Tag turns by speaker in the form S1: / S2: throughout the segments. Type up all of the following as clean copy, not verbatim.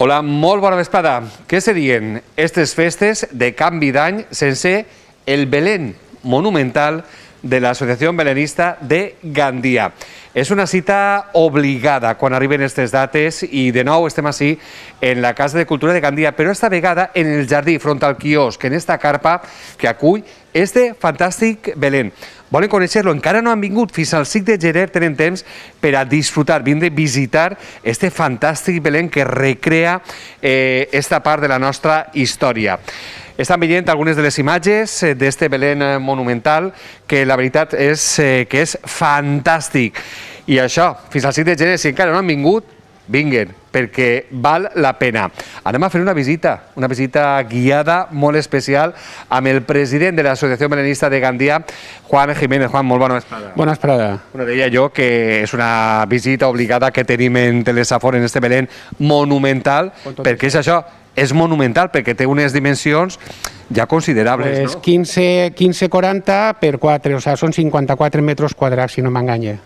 S1: Hola, molt bona vesprada. Què serien aquestes festes de canvi d'any sense el Belén monumental de l'Associació Belenista de Gandia? És una cita obligada quan arriben aquestes dates i de nou estem així en la Casa de Cultura de Gandia, però esta vegada en el jardí, front al quiosc, en esta carpa que acull este fantàstic Belén. Volen conèixer-lo? Encara no han vingut. Fins al 5 de gener tenen temps per a disfrutar, vindre a visitar este fantàstic Belén que recrea esta part de la nostra història. Estan veient algunes de les imatges d'este Belén monumental que la veritat és que és fantàstic. I això, fins al 5 de gener, si encara no han vingut, vinguen, perquè val la pena. Anem a fer una visita guiada molt especial amb el president de l'Associació Belenista de Gandia, Juan Jiménez. Juan, molt bona vesprada.
S2: Bona vesprada.
S1: Deia jo que és una visita obligada que tenim en Telesafor en este Belén monumental, perquè és això, és monumental, perquè té unes dimensions ja considerables,
S2: no? 15-40 per 4, o sigui, són 54 metres quadrats, si no m'enganya.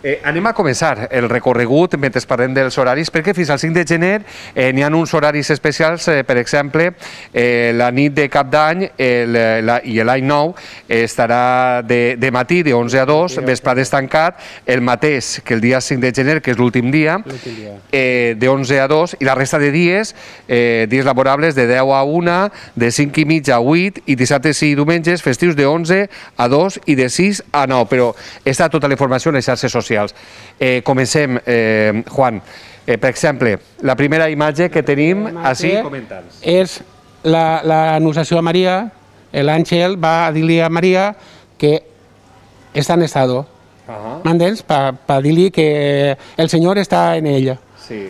S1: Anem a començar el recorregut mentre parlem dels horaris, perquè fins al 5 de gener n'hi ha uns horaris especials, per exemple, la nit de cap d'any i l'any nou estarà de matí de 11 a 2, vesprades tancat, el mateix que el dia 5 de gener, que és l'últim dia, de 11 a 2, i la resta de dies laborables de 10 a 1, de 5 i mitja a 8, i dissabtes i diumenges festius de 11 a 2 i de 6 a 9, però està tota la informació en les xarxes socials. Comencem, Juan. Per exemple, la primera imatge que tenim així, comenta'ns.
S2: És l'Anunciació a Maria. L'àngel va a dir-li a Maria que està en estado. M'entens? Per dir-li que el Senyor està en ella.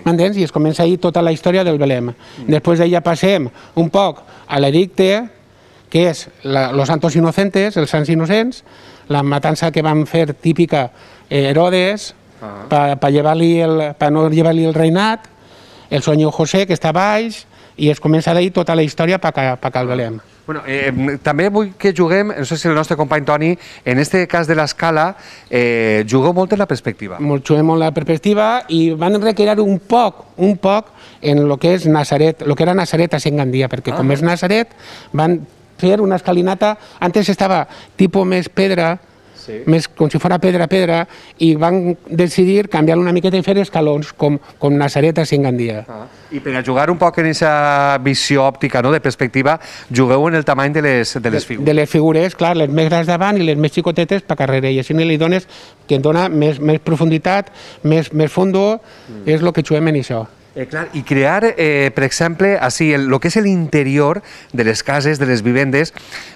S2: M'entens? I es comença ahir tota la història del Belém. Després d'ella passem un poc a l'edicte, que és los santos inocentes, els sants innocents, la matança que van fer típica Herodes per no llevar-li el reinat, el sueño José, que està baix, i es comença d'ahir tota la història per al Belém.
S1: També vull que juguem, no sé si el nostre company Toni, en este cas de l'escala, jugueu molt en la perspectiva.
S2: Juguem molt en la perspectiva i van recrear un poc en el que és Nazaret, el que era Nazaret a Gandia, perquè com és Nazaret van fer una escalinata, antes estava tipus més pedra, més com si fos pedra, i van decidir canviar-lo una miqueta i fer escalons, com Nazaret a Gandia.
S1: I per a jugar un poc en aquesta visió òptica, de perspectiva, jugueu en el tamany de les figures.
S2: De les figures, clar, les més grans davant i les més xicotetes per carrere, i així li dones que et dona més profunditat, més fondo, és el que juguem en això.
S1: I crear, per exemple, el que és l'interior de les cases, de les vivendes,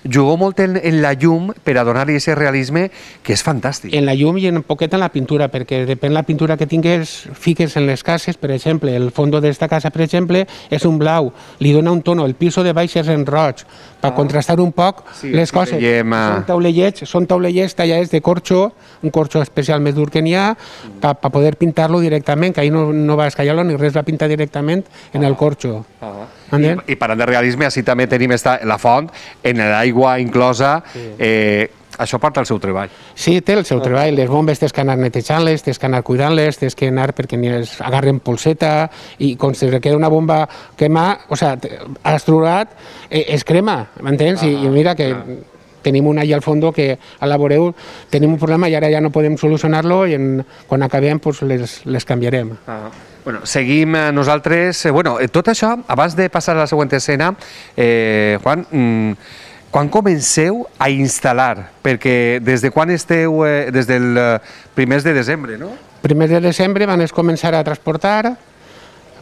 S1: jugueu molt en la llum per a donar-li aquest realisme que és fantàstic.
S2: En la llum i un poquet en la pintura, perquè depèn de la pintura que tingues, fiques en les cases, per exemple, el fons d'esta casa, per exemple, és un blau, li dona un tono, el piso de baix és en roig, per contrastar un poc les coses. Són taulellets tallats de corxo, un corxo especial més dur que n'hi ha, per poder pintar-lo directament, que ahir no va escallar-lo ni res, va pintar directament en el corxo.
S1: I parlant de realisme, així també tenim la font, en l'aigua inclosa. Això porta el seu treball.
S2: Sí, té el seu treball. Les bombes tens que anar netejant-les, tens que anar cuidant-les, tens que anar perquè es agarren polseta, i quan se queda una bomba quemar, o sigui, estrurat, es crema, m'entens? I mira que tenim una allà al fons que a la voreu tenim un problema i ara ja no podem solucionar-lo i quan acabem les canviarem.
S1: Seguim nosaltres. Tot això, abans de passar a la següent escena, Juan, quan comenceu a instal·lar? Perquè des de quan esteu? Des del primers de desembre, no?
S2: Primers de desembre van començar a transportar,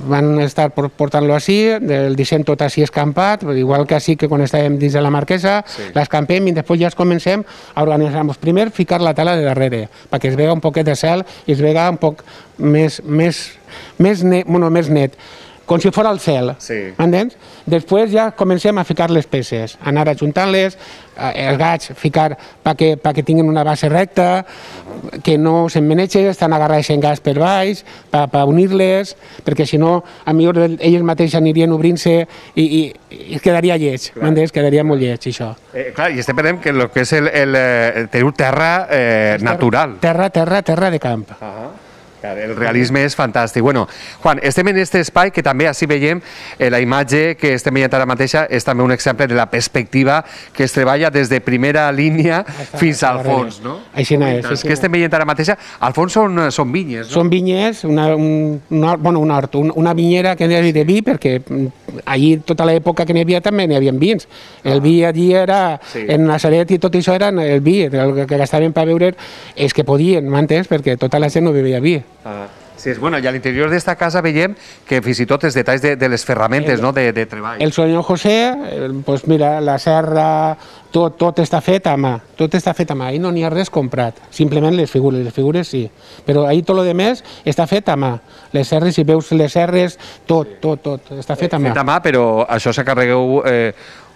S2: van estar portant-lo així, el disseny tot així escampat, igual que així que quan estàvem dins de la Marquesa, l'escampem i després ja comencem a organitzar-nos. Primer, ficar la tela de darrere, perquè es vega un poquet de cel i es vega un poc més net, com si fos el cel, m'entens? Després ja comencem a ficar les peces, anar ajuntant-les, els gats ficar perquè tinguin una base recta, que no s'emmenegen, estan agarrats en gas per baix, per unir-les, perquè si no, potser elles mateixes anirien obrint-se i quedaria lleig, m'entens? Quedaria molt lleig, això.
S1: Clar, i estem parlant que el que és teniu terra natural.
S2: Terra de camp.
S1: El realisme és fantàstic. Bueno, Juan, estem en aquest espai que també així veiem la imatge que estem veient ara mateixa és també un exemple de la perspectiva que es treballa des de primera línia fins al fons, no?
S2: Així és.
S1: Que estem veient ara mateixa, al fons són vinyes, no?
S2: Són vinyes, un hort, una vinyera que n'hi havia de vi, perquè allí tota l'època que n'hi havia també n'hi havia vins. El vi allí era, en Nazaret i tot això era el vi, el que gastaven per beure és que podien, m'entens? Perquè tota la gent no bevia vi.
S1: Sí, bueno, i a l'interior d'esta casa veiem que fins i tot els detalls de les ferramentes de treball.
S2: El senyor José, doncs mira, la serra, tot està fet a mà, ahir no n'hi ha res comprat, simplement les figures sí, però ahir tot el més està fet a mà, les serres, si veus les serres, tot està fet a mà.
S1: Fet a mà, però això s'acarregueu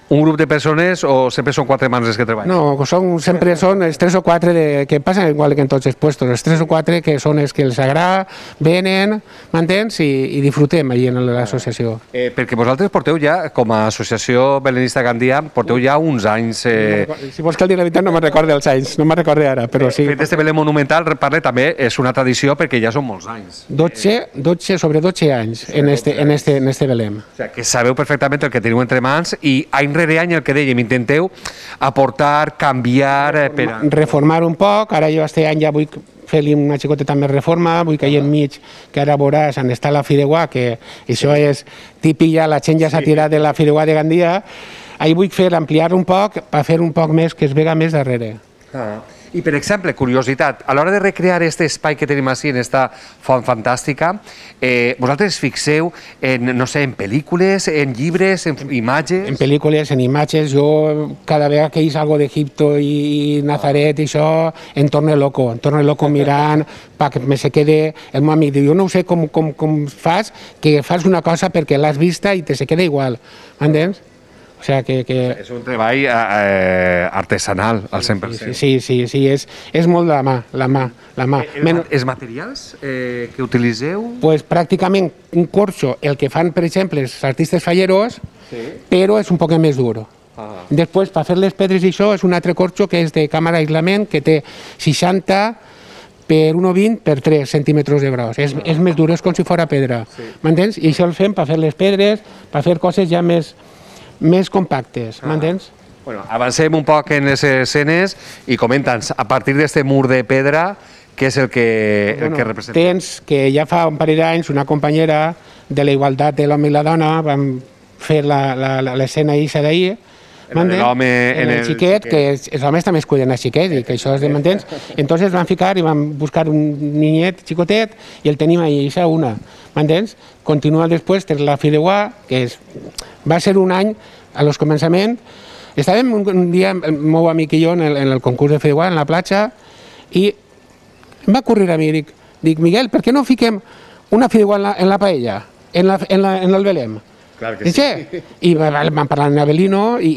S1: un grup de persones o sempre són 4 mans les que treballen?
S2: No, sempre són els 3 o 4 que passen igual que en tots els puestos, els 3 o 4 que són els que els agrada, venen, m'entens, i disfrutem allà en l'associació.
S1: Perquè vosaltres porteu ja, com a Associació Belenista Gandia, porteu ja uns anys...
S2: Si vols que el digui la veritat no me'n recordo els anys, no me'n recordo ara, però sí.
S1: Fet este Belén monumental, parle, també és una tradició perquè ja són molts anys.
S2: 12 anys en este Belén.
S1: O sigui, que sabeu perfectament el que teniu entre mans i any rere any el que dèiem, intenteu aportar, canviar...
S2: Reformar un poc, ara jo este any ja vull fer-li una xicoteta més reforma, vull que hi enmig, que ara veuràs on està la Fideuà, que això és típic ja, la gent ja s'ha tirat de la Fideuà de Gandia, ahir vull fer ampliar un poc per fer un poc més que es vega més darrere.
S1: I, per exemple, curiositat, a l'hora de recrear aquest espai que tenim així, en aquesta font fantàstica, vosaltres fixeu en, no sé, en pel·lícules, en llibres, en imatges?
S2: En pel·lícules, en imatges, jo cada vegada que hi salgo d'Egipto i Nazaret i això, em torno loco mirant, perquè me se quede el meu amic. Jo no sé com fas, que fas una cosa perquè l'has vista i te se queda igual, m'entens? O sea que...
S1: És un treball artesanal, al 100%.
S2: Sí, és molt la mà.
S1: Els materials que utilitzeu?
S2: Pues pràcticament un corxo, el que fan, per exemple, els artistes falleros, però és un poc més dur. Després, per fer les pedres i això, és un altre corxo que és de càmera aislament, que té 60 per 1,20 per 3 centímetres de gros. És més dur, és com si fos pedra. M'entens? I això el fem per fer les pedres, per fer coses ja més compactes, m'entens?
S1: Bueno, avancem un poc en les escenes i comenta'ns, a partir d'aquest mur de pedra, què és el que representa?
S2: Tens que ja fa un parell d'anys una companyera de la igualtat de l'home i la dona vam fer l'escena eixa d'ahir,
S1: l'home
S2: en el xiquet, que els homes també es cuiden a xiquet i que això és de m'entens. Entonces van ficar i van buscar un niñet xicotet i el tenim ahí, eixa una, m'entens? Continua després per la Fideuà, que va ser un any a los començaments. Estàvem un dia, el meu amic i jo, en el concurs de Fideuà, en la platja, i em va ocórrer a mi, dic, Miguel, per què no fiquem una Fideuà en la paella, en el Belém?
S1: Clar que sí.
S2: I van parlar amb Abelino i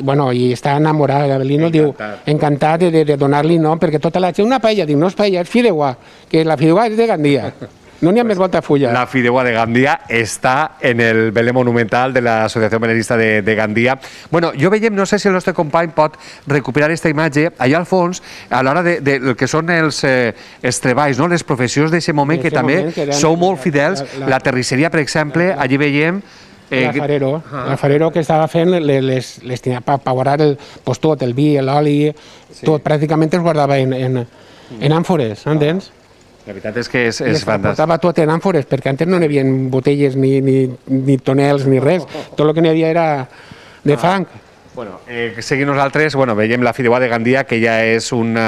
S2: està enamorat d'Abelino, diu, encantat de donar-li nom, perquè tota la gent, una paella, diu, no és paella, és Fideuà, que la Fideuà és de Gandia. No n'hi ha més volta a fulla.
S1: La Fideuà de Gandia està en el Belén monumental de l'Associació Belenista de Gandia. Bueno, jo veiem, no sé si el nostre company pot recuperar aquesta imatge, allà al fons, a l'hora del que són els treballs, les professions d'aquest moment, que també sou molt fidels. La terrisseria, per exemple, allí veiem...
S2: L'alfarero que estava fent per guardar tot, el vi, l'oli, tot pràcticament es guardava en àmfores, entens?
S1: La veritat és que és fantàstic.
S2: Portava tot en àmfores, perquè antes no n'hi havia botelles ni tonels ni res. Tot el que n'hi havia era de fang.
S1: Bueno, seguint nosaltres, veiem la Fideuà de Gandia, que ja és un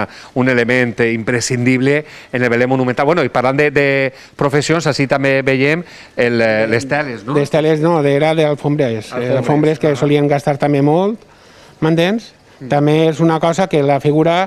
S1: element imprescindible en el Belén monumental. Bueno, i parlant de professions, així també veiem les teles, no?
S2: Les teles no, era d'alfombres. Alfombres que solien gastar també molt, m'entens? També és una cosa que la figura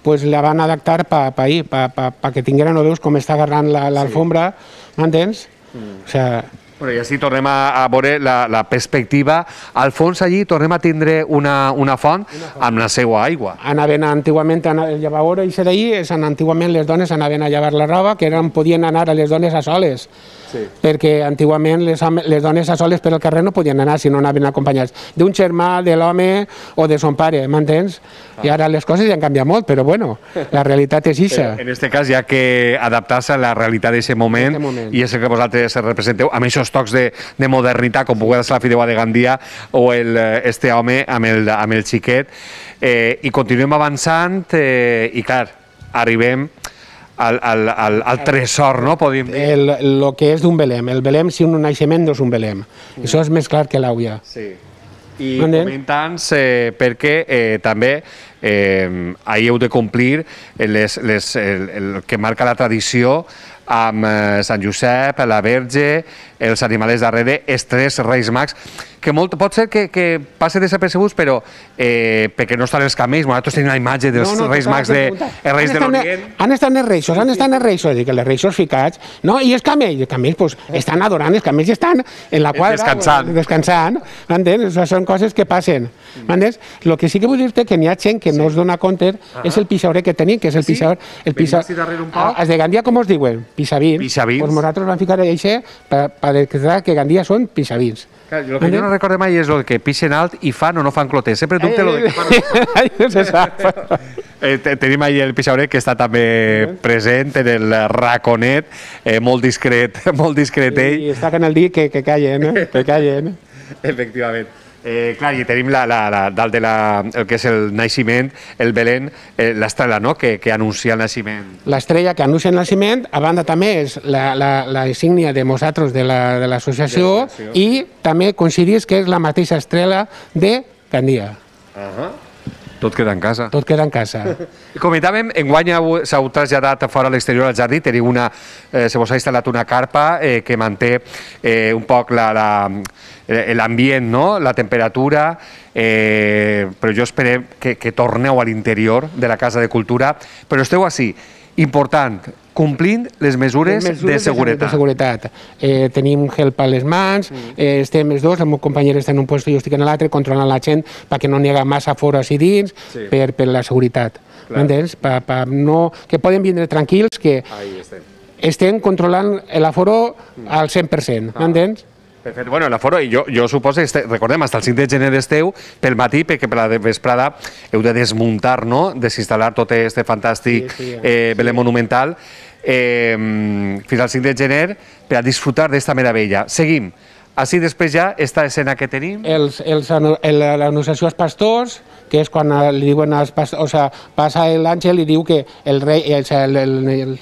S2: la van adaptar perquè tingueren, no veus com està agarrant l'alfombra, m'entens? O sigui...
S1: I així tornem a veure la perspectiva. Al fons allí tornem a tindre una font amb la seva aigua.
S2: Anaven antigament a llevar, i d'ahir, antigament les dones anaven a llevar la roba, que podien anar a les dones a soles. perquè antigament les dones a soles per al carrer no podien anar si no anaven acompanyats d'un germà, de l'home o de son pare, m'entens? I ara les coses ja han canviat molt, però bueno, la realitat és ixa.
S1: En aquest cas hi ha que adaptar-se a la realitat d'aquest moment, i és el que vosaltres representeu amb aquests tocs de modernitat, com pugui ser la fideuà de Gandia o este home amb el xiquet, i continuem avançant i clar, arribem al tresor, no? Podríem dir.
S2: El que és d'un Belém. El Belém, si un naixement, no és un Belém. Això és més clar que l'àuia.
S1: Sí. I comentant-nos perquè també ahir heu de complir el que marca la tradició amb Sant Josep, la Verge, els animals darrere, els tres Reis Mags, que pot ser que passi desapercebuts, però perquè no estan els camells, nosaltres tenim la imatge dels Reis Mags els Reis de l'Orient.
S2: Han estat els reixos, els reixos ficats, no? I els camells estan adorant, els camells estan en la quadra, descansant, m'entens? Són coses que passen, m'entens? El que sí que vull dir-te que n'hi ha gent que no es dona compte és el pixaurer que tenim, que és el pixaurer... Els de Gandia com es diuen? Pixavins. Doncs nosaltres vam ficar això per declarar que Gandia són pixavins.
S1: El que jo no recordo mai és el que pixen alt i fan o no fan cloters. Sempre dubte el que fan.
S2: No se sap.
S1: Tenim ahir el pixaurer que està també present en el raconet, molt discret ell.
S2: I està que en el dit que callen, que callen.
S1: Efectivament. Clar, i tenim dalt de el que és el naixement, el Belén, l'estrella, no?, que anuncia el naixement.
S2: L'estrella que anuncia el naixement, a banda també és la insígnia de nosaltres de l'associació i també coincidís que és la mateixa estrella de Gandia.
S1: Tot queda en casa.
S2: Tot queda en casa.
S1: Comentàvem, enguany s'heu traslladat fora a l'exterior al jardí, teniu se vos ha instal·lat una carpa que manté un poc l'ambient, no?, la temperatura, però jo esperem que torneu a l'interior de la Casa de Cultura, però esteu així, important, complint les mesures de seguretat. Tenim gel per les mans, estem els dos, el meu company està en un lloc i jo estic en l'altre, controlant la gent perquè no n'hi haga massa fora i dins, per la seguretat. M'entens? Que poden vindre tranquils, que estem controlant l'aforo al 100%, m'entens? Perfecte. Bueno, l'aforo, jo suposo, recordem, fins al 5 de gener esteu pel matí, perquè per la vesprada heu de desmuntar, no?, desinstal·lar tot aquest fantàstic Belén monumental, fins al 5 de gener per a disfrutar d'esta meravella. Seguim. Així després ja, esta escena que tenim...
S2: L'anunciació als pastors, que és quan li diuen als pastors, o sigui, passa l'àngel i diu que el rei, el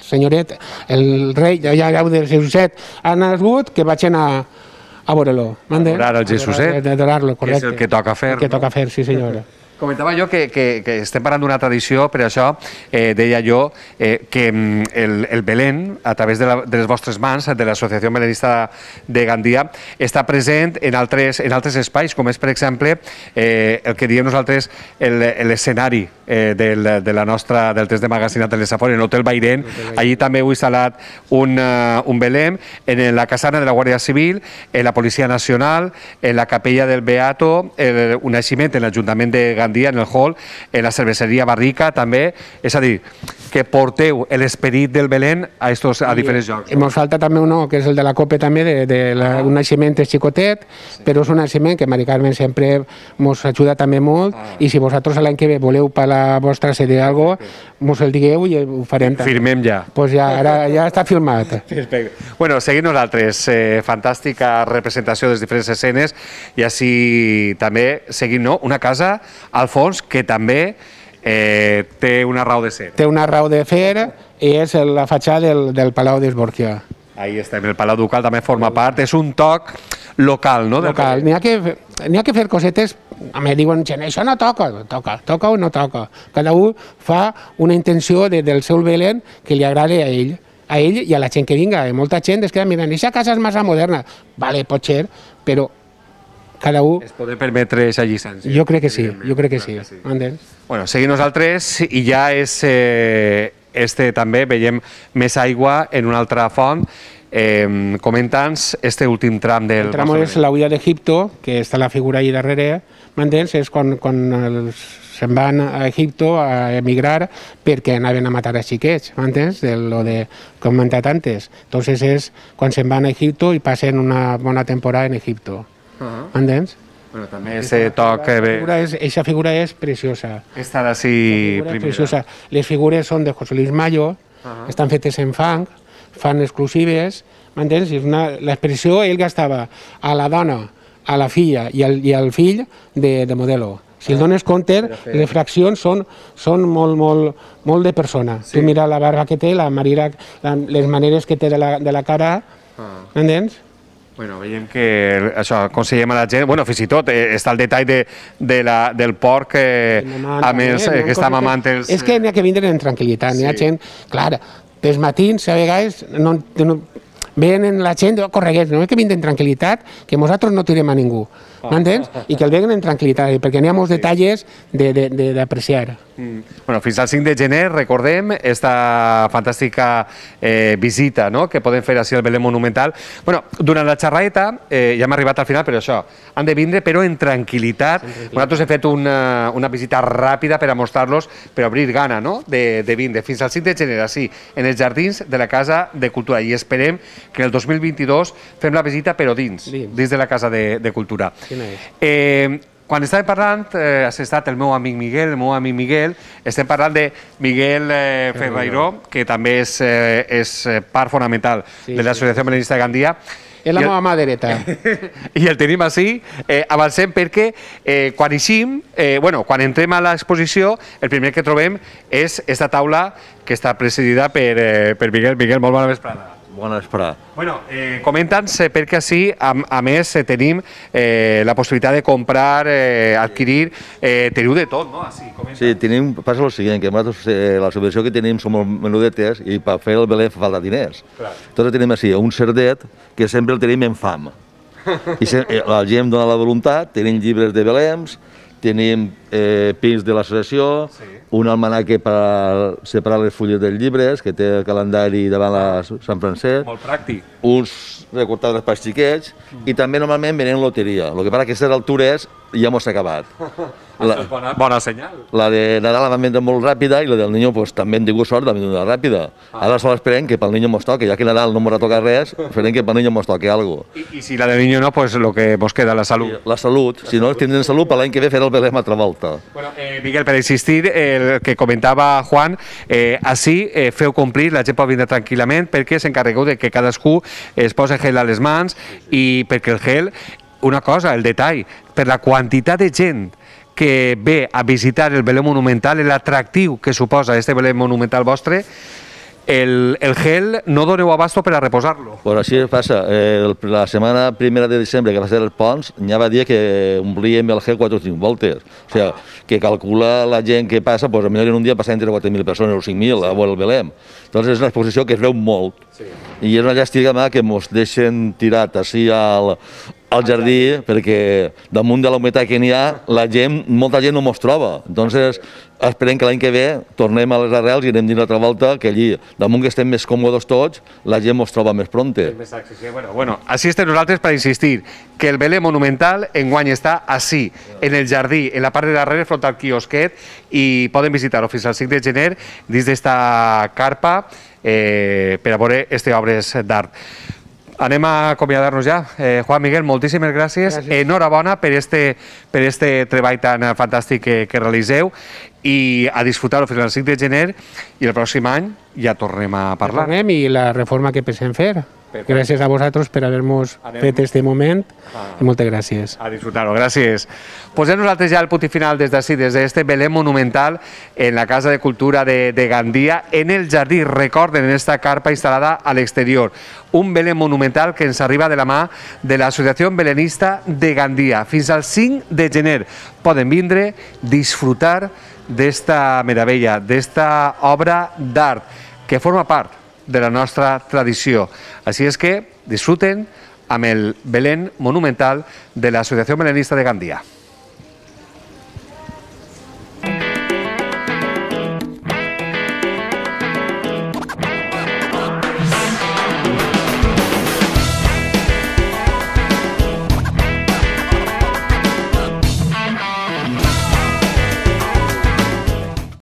S2: senyoret, el rei, ja del Jesuset, ha nascut, que vagin a veure-lo.
S1: Adorar el Jesuset, que és el que toca fer.
S2: El que toca fer, sí senyora.
S1: Comentava jo que estem parlant d'una tradició, per això deia jo que el Belén, a través de les vostres mans, de l'Associació Belenista de Gandia, està present en altres espais, com és, per exemple, el que diem nosaltres l'escenari del test de magazinat de l'Esafori, en l'Hotel Bairén. Allí també heu instal·lat un Belén, en la casana de la Guàrdia Civil, en la Policia Nacional, en la Capella del Beato, un naixement en l'Ajuntament de Gandia, en el hall, en la cerveseria Barrica també, és a dir, que porteu l'esperit del Belén a diferents llocs.
S2: Ens falta també un que és el de la Copa també, un naixement xicotet, però és un naixement que Mari Carmen sempre ens ajuda també molt, i si vosaltres l'any que ve voleu per la vostra sèrie d'algo, ens el digueu i ho farem.
S1: Firmem ja.
S2: Doncs ja està filmat.
S1: Perfecte. Bueno, seguim nosaltres. Fantàstica representació de les diferents escenes, i així també seguim una casa al fons que també té una raó de ser.
S2: Té una raó de fer i és la fatxada del Palau d'Esborquia.
S1: Ahí estem, el Palau Ducal també forma part, és un toc local, no?
S2: Local, n'hi ha que fer cosetes, diuen, això no toca, toca o no toca. Cada un fa una intenció del seu Belén que li agrada a ell i a la gent que vinga. Molta gent es queda mirant, aquesta casa és massa moderna. Vale, pot ser, però cada un...
S1: Es pot permetre aquesta llicència.
S2: Jo crec que sí,
S1: Bueno, seguim nosaltres i ja és... també veiem més aigua en una altra font. Comenta'ns este últim tram del...
S2: El tram és la huida d'Egipto, que està la figura allà darrere, m'entens? És quan els se'n van a Egipto a emigrar perquè anaven a matar a xiquets, m'entens? De lo de que he comentat antes. Entonces és quan se'n van a Egipto i passen una bona temporada en Egipto, m'entens?
S1: Bueno, també ese toc...
S2: Eixa figura és preciosa.
S1: Esta d'ací
S2: primera. Les figures són de José Luis Mayo, estan fetes en fang, fan exclusives, m'entens? L'expressió ell gastava a la dona, a la filla i al fill de modelo. Si el dones compte, les fraccions són molt de persona. Tu mira la barba que té, les maneres que té de la cara, m'entens?
S1: Bueno, veiem que això aconsellem a la gent, bueno, fins i tot està el detall del porc que està mamant els...
S2: És que n'hi ha que vindre en tranquil·litat, n'hi ha gent, clar, dels matins a vegades venen la gent, correguets, no és que vindre en tranquil·litat, que nosaltres no tirem a ningú, m'entens? I que el veguen en tranquil·litat, perquè n'hi ha molts detalls d'apreciar.
S1: Bueno, fins al 5 de gener, recordem, esta fantàstica visita que podem fer així al Belén Monumental. Bueno, durant la xerradeta, ja hem arribat al final, però això, han de vindre, però en tranquil·litat. Nosaltres hem fet una visita ràpida per a mostrar-los, per obrir gana de vindre. Fins al 5 de gener, així, en els jardins de la Casa de Cultura. I esperem que el 2022 fem la visita, però dins de la Casa de Cultura. Quan estàvem parlant, has estat el meu amic Miguel, estem parlant de Miguel Ferreiró, que també és part fonamental de l'Associació Belenista de Gandia.
S2: És la meva mà dreta.
S1: I el tenim així, avancem perquè quan eixim, quan entrem a l'exposició, el primer que trobem és esta taula que està presidida per Miguel. Miguel, molt bona vesprada.
S3: Bona vesprada.
S1: Bueno, comenta'ns perquè així, a més, tenim la possibilitat de comprar, adquirir, teniu de tot, no?
S3: Sí, passa el següent, que nosaltres la subvenció que tenim som menudetes i per fer el Belén fa falta diners. Entonces tenim així un cerdet que sempre el tenim en fam. I la gent dona la voluntat, tenim llibres de Beléns, tenim pins de l'associació, un almanaque per separar les fulles dels llibres, que té el calendari davant la Sant Francesc.
S1: Molt pràctic.
S3: Uns recortadors per xiquets, i també normalment venen loteria. El que passa que a aquestes altures ja mos s'ha acabat.
S1: Bona senyal.
S3: La de Nadal la vam vendre molt ràpida i la del Niño també hem tingut sort de vendre ràpida. Ara sol esperem que pel Niño mos toque, ja que Nadal no mos toca res, esperem que pel Niño mos toque alguna cosa.
S1: I si la del Niño no, pues lo que mos queda, la salut.
S3: La salut, si no tindrem salut, per l'any que ve fer el Belén una altra volta.
S1: Bueno, Miguel, per insistir, el que comentava Juan, així feu complir, la gent pot vindre tranquil·lament perquè s'encarregueu de que cadascú es posi gel a les mans i perquè el gel, una cosa, el detall, per la quantitat de gent que ve a visitar el Belén Monumental, l'atractiu que suposa este Belén Monumental vostre, el gel no doneu abasto per a reposar-lo.
S3: Pues així passa. La setmana primera de desembre, que va ser el Pons, ja va dir que omplíem el gel 4 o 5 voltes. O sigui, que calcula la gent que passa, doncs potser en un dia passa entre 4.000 persones o 5.000 a veure el Belén. Doncs és una exposició que es veu molt. I és una llàstima que ens deixen tirat així al jardí, perquè damunt de la humitat que n'hi ha, molta gent no mos troba. Entonces, esperem que l'any que ve tornem a les arrels i anem dins l'altra volta, que allí, damunt que estem més còmodes tots, la gent mos troba més pronte.
S1: Bueno, així estem nosaltres per insistir que el Belén Monumental enguany està així, en el jardí, en la part de darrere, front al quiosquet, i poden visitar-ho fins al 5 de gener dins d'esta carpa per a veure aquestes obres d'art. Anem a acomiadar-nos ja. Juan, Miguel, moltíssimes gràcies. Enhorabona per este treball tan fantàstic que realiseu i a disfrutar-ho fins al 5 de gener i el pròxim any ja tornem a parlar.
S2: I la reforma que pensem fer. Gràcies a vosaltres per haver-nos fet este moment i moltes gràcies.
S1: A disfrutar-ho, gràcies. Posem nosaltres ja el punt final des d'ací, des d'este Belén Monumental en la Casa de Cultura de Gandia, en el jardí, recorden, en esta carpa instal·lada a l'exterior. Un Belén Monumental que ens arriba de la mà de l'Associació Belenista de Gandia. Fins al 5 de gener poden vindre, disfrutar d'esta meravella, d'esta obra d'art que forma part de la nostra tradició. Així és que disfruten amb el Belén Monumental de l'Associació Belenista de Gandia.